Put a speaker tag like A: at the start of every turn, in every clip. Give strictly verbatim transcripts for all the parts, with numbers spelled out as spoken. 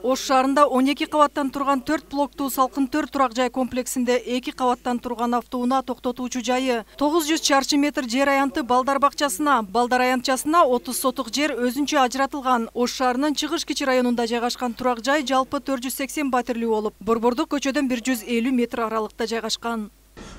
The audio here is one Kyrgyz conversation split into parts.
A: Ош шаарында он эки кабаттан турган төрт блоктуу Салкын төрт турак жай комплексинде эки кабаттан турган автоунаа токтотуучу жайы, тогуз жүз чарчы метр жер аянты балдар бакчасына, балдар аянтчасына отуз сотук жер өзүнчө ажыратылган. Ош шаарынын Чыгыш Кичи районунда жайгашкан турак жай жалпы төрт жүз сексен батирлүү болуп, Борбордук көчөдөн бир жүз элүү метр аралыкта жайгашкан.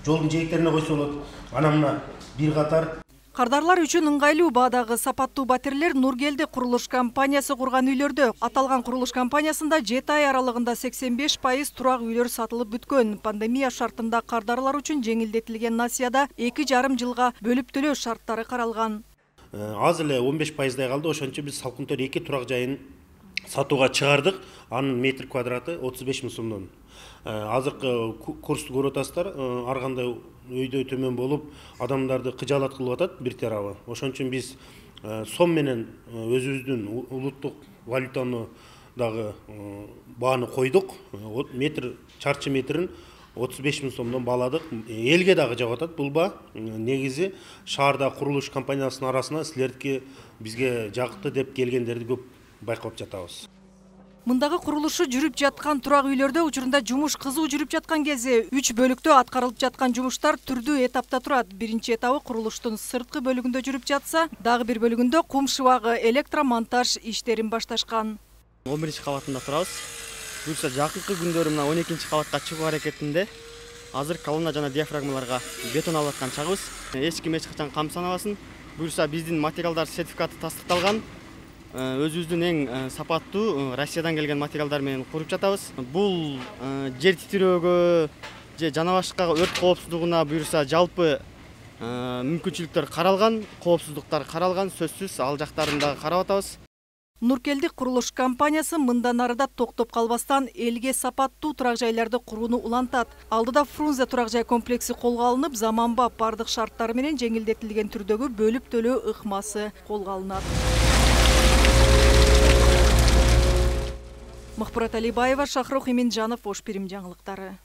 B: Жолдун жээктерине койсо болот. Анан мына бир катар
A: Кардарлар үчүн ыңгайлуу баадагы сапаттуу батирлер Нургелди курулуш компаниясы курган үйлөрдө. Аталган курулуш компаниясында жети ай аралыгында сексен беш пайыз турак үйлөр сатылып бүткөн. Пандемия шартында кардарлар үчүн жеңилдетилген насыяда эки жарым жылга бөлүп төлөө шарттары каралган.
B: Аз эле он беш пайыздай калды. Ошончо биз Салкын төрт эки турак жайын сатууга чыгардык. Анын метр квадраты отуз беш миң сомдон. Азыркы курсту көрүп атасыздар, ар кандай өйдөй төмөн болуп, адамдарды кыжаалат кылып атат бир тарабы. Ошон үчүн биз сом менен өзүбүздүн улуттук валютаны дагы бааны койдук. Метр чарчы метрин отуз беш миң сомдон бааладык. Элге дагы жагып атат бул баа. Негизи шаарда курулуш компаниясынын арасына силердики бизге жакты деп келгендерди көп байкап жатабыз.
A: Мындагы курулушу жүрүп жаткан турак үйлөрдө учурунда жумуш кызуу жүрүп жаткан кезде үч бөлүктө аткарылып жаткан жумуштар түрдүү этапта турат. Биринчи этабы курулуштун сырткы бөлүгүндө жүрүп жатса, дагы бир бөлүгүндө кум шыбагы, электромонтаж иштерин башташкан.
C: он биринчи кабатында турабыз. Буюрса жакынкы күндөрү мына он экинчи кабатка чыгуу аракетинде. Азыр колонна жана диафрагмаларга бетон алып аткан чагыбыз. Эч ким эч качан камсанабасын. Буюрса биздин материалдар сертификаты тастыкталган. Өзүбүздүн эң сапаттуу Россиядан келген материалдар менен куруп жатабыз. Бул жер титирөөгө же жана башка өрт коопсуздугуна буюрса жалпы мүмкүнчүлүктөр каралган, коопсуздуктар каралган, сөзсүз ал жактарын дагы карап атабыз.
A: Нургелди курулуш компаниясы мындан арыда токтоп калбастан элге сапаттуу турак жайларды курууну улантат. Алдыда Фрунзе турак жай комплекси колго алынып, заманбап бардык шарттары менен жеңилдетилген түрдөгү бөлүп төлөө ыкмасы колго алынат. Махпурат Алибаева, Шахрох Иминджанов, Ош Пирим жаңылыктары.